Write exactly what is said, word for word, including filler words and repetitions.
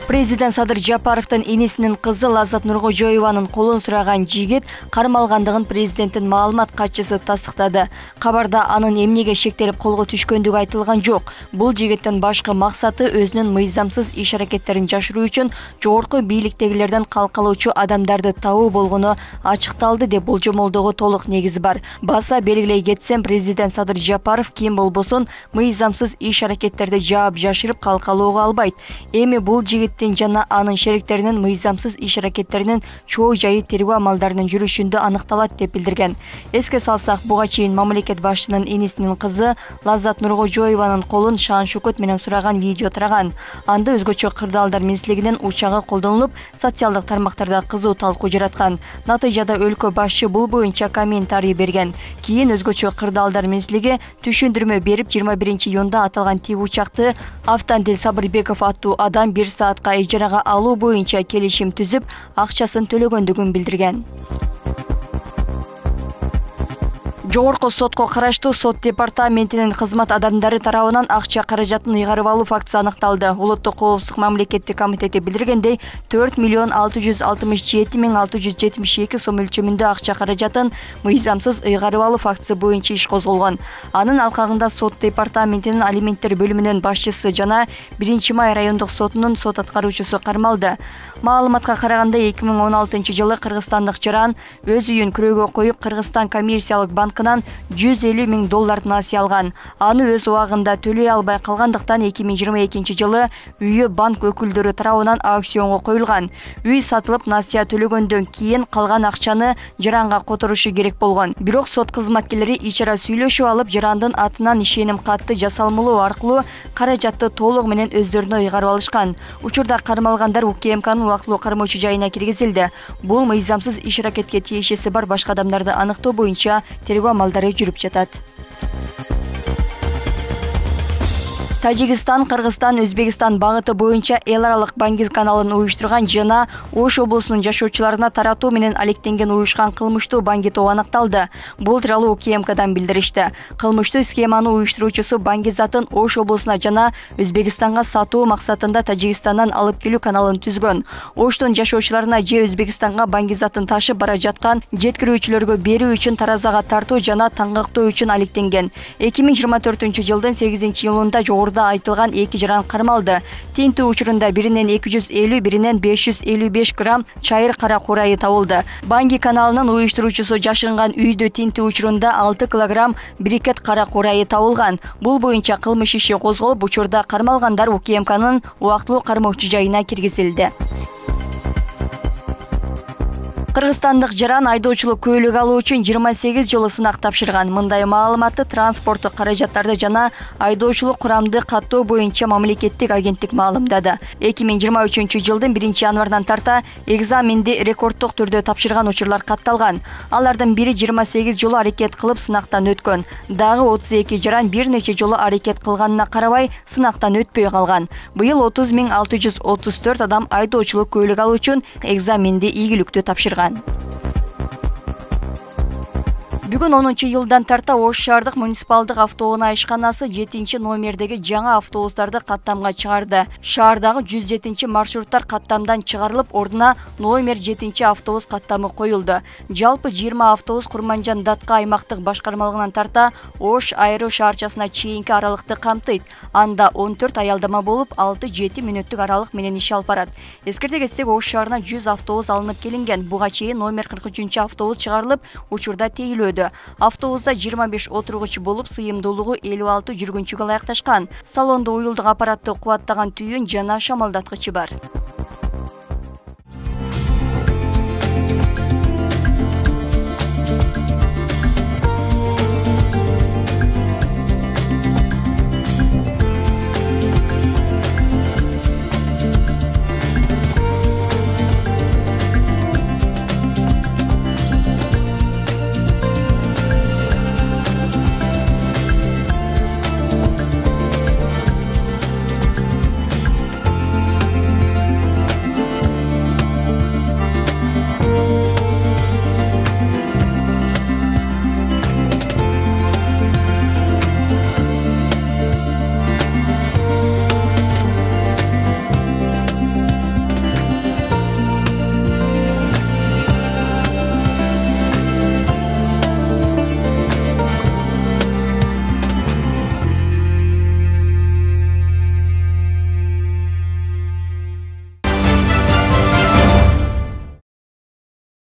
Президент Садыр Жапаровдун энесинин кызы Лаззат Нуркожоеванын колун сураган жигит кармалгандыгын президенттин маалымат катчысы тастыктады. Кабарда анын эмнеге шектелип колго түшкөндүгү айтылган жок. Бул жигиттин башкы максаты өзүнүн мыйзамсыз иш-аракеттерин жашыруу үчүн жогорку бийликтегилерден калкалоочу адамдарды табуу болгону ачыкталды деп болжомолдоого толук негиз бар. Баса белгилей кетсем, президент Садыр Жапаров ким болбосун мыйзамсыз иш-аракеттерди жаап жашырып калкалоого албайт. Эми бул жигит жана анын шериктеринин мыйзамсыз иш-аракеттеринин чоо жайы тергөө амалдарынын жүрүшүндө аныкталат деп билдирген. Эске салсак, буга чейин мамлекет башчынын энесинин кызы Лаззат Нуркожоеванын колун шаан-шөкөт менен сураган видео тараган. Анда өзгөчө кырдаалдар менчилигинин учагы колдонулуп, социалдык тармактарда кызуу талкуу жараткан. Натыйжада өлкө башчы бул боюнча комментарий берген. Кийин өзгөчө кырдаалдар менчилиги түшүндүрмө берип, жыйырма биринчи июнда аталган тип учакты Автандил Сабырбеков аттуу адам бир саатка ижарага алуу боюнча келишим түзүп, акчасын төлөгөндүгүн билдирген. Жогорку сотко караштуу сот департаментинин кызмат адамдары тарабынан акча каражатын ыйгарып алуу фактысы аныкталды. Улуттук коопсуздук мамлекеттик комитети билдиргендей, төрт миллион алты жүз алтымыш жети миң алты жүз жетимиш эки сом өлчөмүндө акча каражатын мыйзамсыз ыйгарып алуу фактысы боюнча иш козголгон. Анын алкагында сот департаментинин алименттер бөлүмүнүн башчысы жана биринчи май райондук сотунун сот аткаруучусу кармалды. Маалыматка караганда, эки миң он алтынчы жылы кыргызстандык жаран өз үйүн күрөөгө коюп, Кыргызстан коммерциялык банкынан жүз элүү миң доллар насыя алган. Аны өз убагында төлөй албай калгандыктан эки миң жыйырма экинчи жылы үйү банк өкүлдөрү тарабынан аукционго коюлган. Үй сатылып, насыя төлөгөндөн кийин калган акчаны жаранга которушу керек болгон. Бирок сот кызматкерлери ичара сүйлөшүп алып, жарандын атынан ишеним катты жасалмалоо аркылуу каражатты толугу менен өздөрүнө ыйгарып алышкан. Учурда кармалгандар УКМКнын убактылуу кармоочу жайына киргизилди. Бул мыйзамсыз иш-аракетке тиешеси бар башка адамдарды аныктоо боюнча тергөө амалдары жүрүп жатат. Тажикстан, Кыргызстан, Өзбекстан багыты боюнча эл аралык Баңгиз каналын уюштурган жана Ош облусунун жашоочуларына таратуу менен алектенген уюшкан кылмыштуу Баңги тобу аныкталды. Бул тууралуу УКМКдан билдиришти. Кылмыштуу схеманы уюштуруучусу Баңги затын Ош облусуна жана Өзбекстанга сатуу максатында Тажикстандан алып келүү каналын түзгөн. Оштун жашоочуларына же Өзбекстанга Баңги затын ташып бара жаткан жеткирүүчүлөргө берүү үчүн таразага тартуу жана таңгактоо үчүн алектенген. эки миң жыйырма төртүнчү жылдын сегизинчи июлунда жогоруда айтылган эки жаран кармалды. Тинтүү учурунда биринен эки жүз элүү, биринен беш жүз элүү беш грамм чайыр кара курайы табылды. Баңги каналынын уюштуруучусу жашынган үйдө тинтүү учурунда алты килограмм брикет кара курайы табылган. Бул боюнча кылмыш иши козголуп, учурда кармалгандар УКМКнын убактылуу кармоочу жайына киргизилди. Кыргызстандык жаран айдоочулук куәлүгү алуу үчүн жыйырма сегиз жолу сынак тапшырган. Мындай маалыматты транспорттук каражаттарды жана айдоочулук курамды каттоо боюнча мамлекеттик агенттик маалымдады. эки миң жыйырма үчүнчү жылдын биринчи январынан тарта экзаменди рекорддук түрдө тапшырган учурлар катталган. Алардын бири жыйырма сегиз жолу аракет кылып сынактан өткөн. Дагы отуз эки жаран бир нече жолу аракет кылганына карабай сынактан өтпөй калган. Быйыл отуз миң алты жүз отуз төрт адам айдоочулук куәлүгү алуу үчүн экзаменди ийгиликтүү тапшырган. Бүгүн онунчу июлдан тарта Ош шаардык муниципалдык автоунаа ишканасы жетинчи номердеги жаңы автобустарды каттамга чыгарды. Шаардагы жүз жетинчи маршруттар каттамдан чыгарылып, ордуна номер жетинчи автобус каттамы коюлду. Жалпы жыйырма автобус Курманжан Датка аймактык башкармалыгынан тарта Ош аэру шаарчасына чейинки аралыкты камтыйт. Анда он төрт аялдама болуп, алты жети мүнөттүк аралык менен иш алып барат. Эскерте кетсек, Ош шаарына жүз автобус алынып келинген. Буга чейин номер кырк үчүнчү автобус чыгарылып, учурда тейлөөдө. Автобуста жыйырма беш отургуч болуп, сыйымдуулугу элүү алты жүргүнчүгө ылайыкташкан. Салондо уюлдук аппаратты кубаттаган түйүн жана шамалдаткычы бар.